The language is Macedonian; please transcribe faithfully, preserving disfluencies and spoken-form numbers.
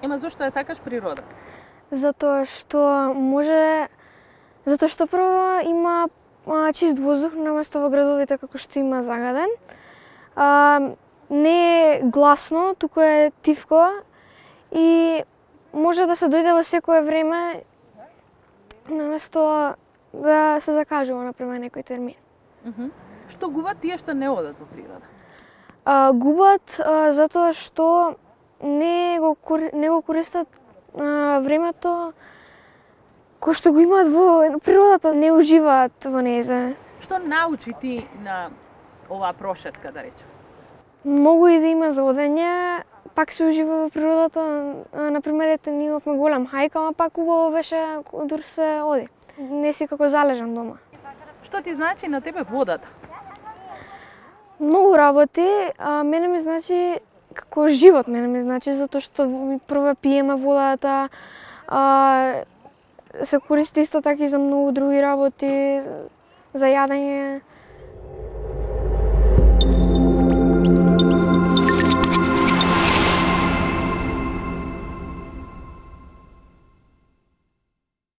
Ема зошто ја сакаш природа? Затоа што може затоа што прво има а, чист воздух наместо во градовите како што има загаден. А, не е гласно, туку е тивко и може да се дојде во секое време наместо да се закажува например некој термин. Uh -huh. Што губат тие што не одат во природа? А, губат а, затоа што не го не го користат а, времето кој што го имаат во природата, не уживаат во нејзе. Што научи ти на оваа прошетка, да речем? Многу и да има за одење, пак се ужива во природата. Например, ете, ние имавме голем хајк, ама пак убаво беше дур се оди. Не си како залежан дома. Што ти значи на тебе водата? Многу работи, а мене ми значи како живот, мене ми значи затоа што прво пиеме водата, а, се користи исто така и за многу други работи, за јадење.